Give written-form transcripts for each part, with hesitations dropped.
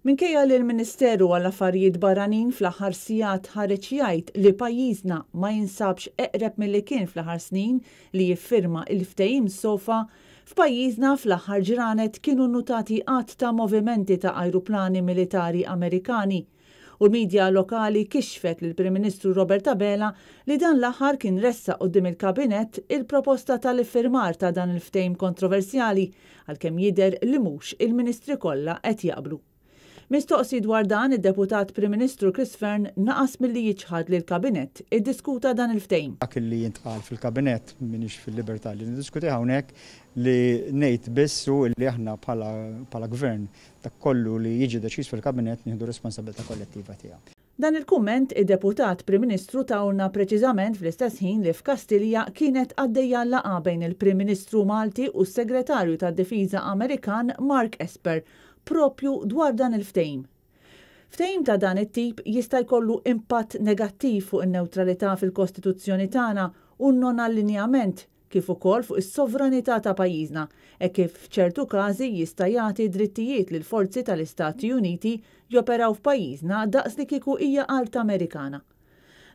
Minkejja li l-Ministeru għall-Affarijiet Barranin fl-aħħar sigħat ħareġ jgħid li pajjiżna ma jinsabx eqreb milli kien fl-aħħar snin li jiffirma il-ftehim SOFA, f'pajjiżna fl-aħħar ġranet kienu nnutati għadd ta' movimenti ta' ajruplani militari Amerikani. U l-medja lokali kixfet lill-Prim Ministru Robert Abela li dan l-aħħar kien ressaq quddiem il-Kabinett il-proposta tal-iffirmar ta' dan il-ftehim kontroversjali, għalkemm jidher li mhux il-ministri kollha qed jaqblu. Mistoqsi dwar dan, id-Deputat Prim Ministru Chris Fearne naqas milli jiċħad li l-Kabinett iddiskuta dan il-ftehim. Dak li jintqal fil-Kabinett m'iniex fil-libertà li niddiskutih hawnhekk. Li ngħid biss hu li aħna bħala gvern, dak kollu li jiġi deċiż fil-Kabinett nieħdu responsabilità kollettiva tiegħu. Dan il-kumment id-Deputat Prim Ministru tahulna preċiżament fl-istess ħin li f'Kastilja kienet għaddejja laqgħa bejn il-Prim Ministru Malti u s-Segretarju tad-Difiża Amerikan Mark Esper propju dwar dan il-ftehim. Ftehim ta' dan it-tip jista' jkollu impatt negattiv fuq in-newtralità fil-Kostituzzjoni tagħna u n-non-allinjament, kif ukoll fuq is-sovranità ta' pajjiżna, hekk kif f'ċertu każi jista' jagħti drittijiet lil forzi tal-Istati Uniti joperaw f'pajjiżna daqs li kieku hija art Amerikana.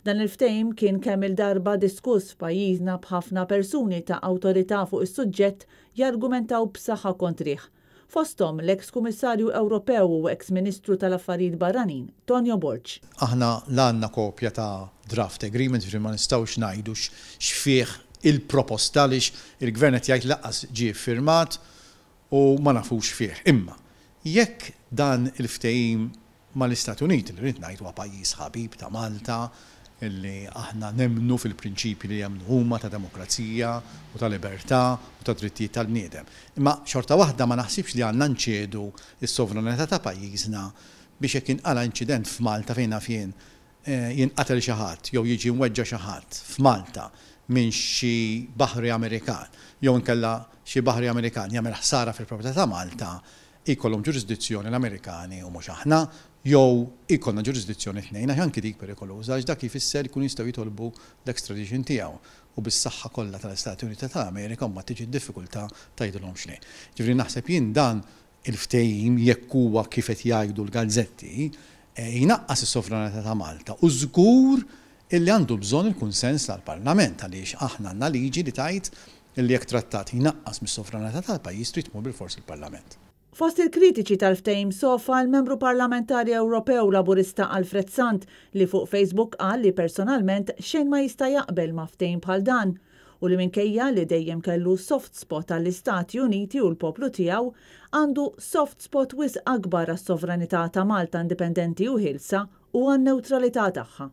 Dan il-ftehim kien kemm il-darba diskuss f'pajjiżna, b'ħafna persuni ta' awtorità fuq is-suġġett jargumentaw b'saħħa kontrih. Fosthom l-eks Kummissarju Ewropew u eks Ministru tal-Affarijiet Barranin, Tonio Borg. Aħna la għandna kopja ta' draft agreement, ġifieri ma nistgħux ngħidu x'fih il-proposta għaliex il-gvern qed jgħid lanqas ġie firmat u ma nafux fih. Imma jekk dan il-ftehim mal-Istati Uniti, li rrid ngħid huwa pajjiż ħabib ta' Malta, li aħna nemmnu fil-prinċipji li jemmnu huma ta' demokrazija u ta' libertà u ta' drittijiet tal-bniedem. Imma xorta waħda ma naħsibx li għandna nċedu s-sovranità ta' pajjiżna biex jekk inqala inċident f'Malta, fejn naf jien, jinqatel xi ħadd jew jiġi mweġġa' xi ħadd f'Malta minn xi baħri Amerikan jew inkella xi baħri Amerikan jagħmel ħsara fil-proprjetà ta' Malta, jkollhom ġurisdizzjoni l-Amerikani u mhux aħna, jew ikollna ġurisdizzjoni tnejn, għax anki dik perikoluża, għax dak jfisser jkunu jistgħu jitolbu l-extradition tiegħu u bis-saħħa kollha tal-Istati Uniti tal-Amerika mbagħad tiġi d-diffikultà tgħidilhomx le. Ġifieri naħseb jien dan il-ftehim, jekk huwa kif qed jgħidu l-gazzetti, jnaqqas is-sovranità ta' Malta u żgur illi għandu bżonn il-kunsens tal-Parlament, għaliex aħna għandna liġi li tgħid illi jekk trattat jnaqqas mis-sovranità tal-pajjiż trid tmur bilfors il-Parlament. Fost il-kritiċi tal-ftehim SOFA, l-membru parlamentari Ewropew Laburista Alfred Sant, li fuq Facebook qal li personalment xejn ma jista' jaqbel ma' ftehim bħal dan u li minkejja li dejjem kellu soft spot għall-Istati Uniti u l-poplu tiegħu, għandu soft spot wisq akbar għas-sovranità ta' Malta indipendenti u ħielsa u għan-newtralità tagħha.